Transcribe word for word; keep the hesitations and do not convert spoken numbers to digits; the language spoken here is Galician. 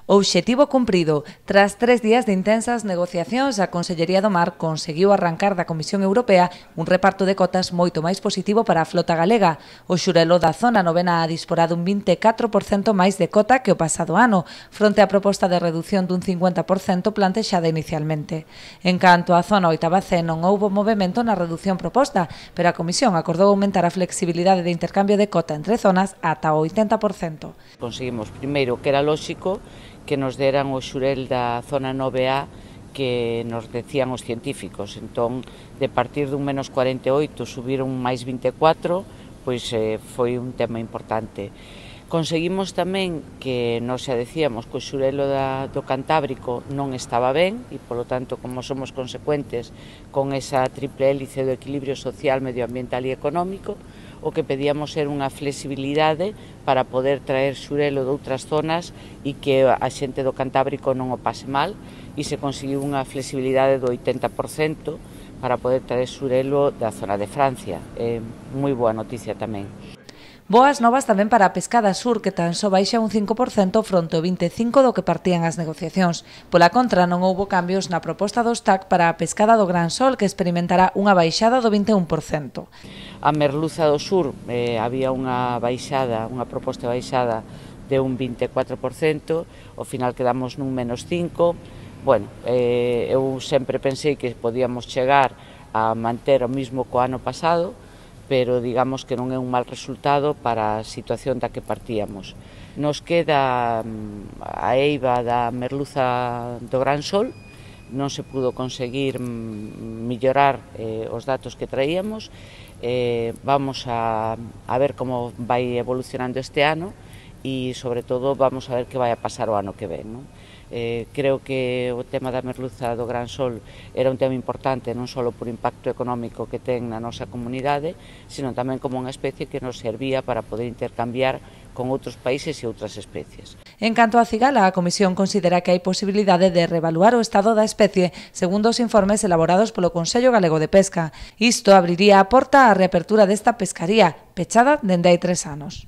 O obxectivo cumprido. Tras tres días de intensas negociacións, a Consellería do Mar conseguiu arrancar da Comisión Europea un reparto de cotas moito máis positivo para a flota galega. O xurelo da zona novena ha disporado un vinte e catro por cento máis de cota que o pasado ano, fronte á proposta de reducción dun cincuenta por cento plantexada inicialmente. En canto á zona oitava C, non houbo movimento na reducción proposta, pero a Comisión acordou aumentar a flexibilidade de intercambio de cota entre zonas ata o oitenta por cento. Conseguimos primeiro que era lóxico que nos deran o xurel da zona nove A que nos decían os científicos. Entón, de partir dun menos cuarenta e oito subiron máis vinte e catro, pois eh, foi un tema importante. Conseguimos tamén que, nos xa decíamos, que o xurelo da, do Cantábrico non estaba ben e, polo tanto, como somos consecuentes con esa triple hélice do equilibrio social, medioambiental e económico, o que pedíamos era unha flexibilidade para poder traer xurelo de outras zonas e que a xente do Cantábrico non o pase mal, e se conseguiu unha flexibilidade do oitenta por cento para poder traer xurelo da zona de Francia. É moi boa noticia tamén. Boas novas tamén para a pescada sur, que tan só baixa un cinco por cento fronte ao vinte e cinco por cento do que partían as negociacións. Pola contra, non houbo cambios na proposta dos T A C para a pescada do Gran Sol, que experimentará unha baixada do vinte e un por cento. A merluza do sur eh, había unha baixada, unha proposta baixada de un vinte e catro por cento, ao final quedamos nun menos cinco por cento. Bueno, eh, eu sempre pensei que podíamos chegar a manter o mismo co ano pasado, pero digamos que non é un mal resultado para a situación da que partíamos. Nos queda a eiva da merluza do Gran Sol, non se pudo conseguir mellorar eh, os datos que traíamos, eh, vamos a, a ver como vai evolucionando este ano e, sobre todo, vamos a ver que vai a pasar o ano que ven, non? Eh, creo que o tema da merluza do Gran Sol era un tema importante non só por impacto económico que ten na nosa comunidade, sino tamén como unha especie que nos servía para poder intercambiar con outros países e outras especies. En canto á cigala, a Comisión considera que hai posibilidade de reevaluar o estado da especie segundo os informes elaborados polo Consello Galego de Pesca. Isto abriría a porta á reapertura desta pescaría, pechada dende hai tres anos.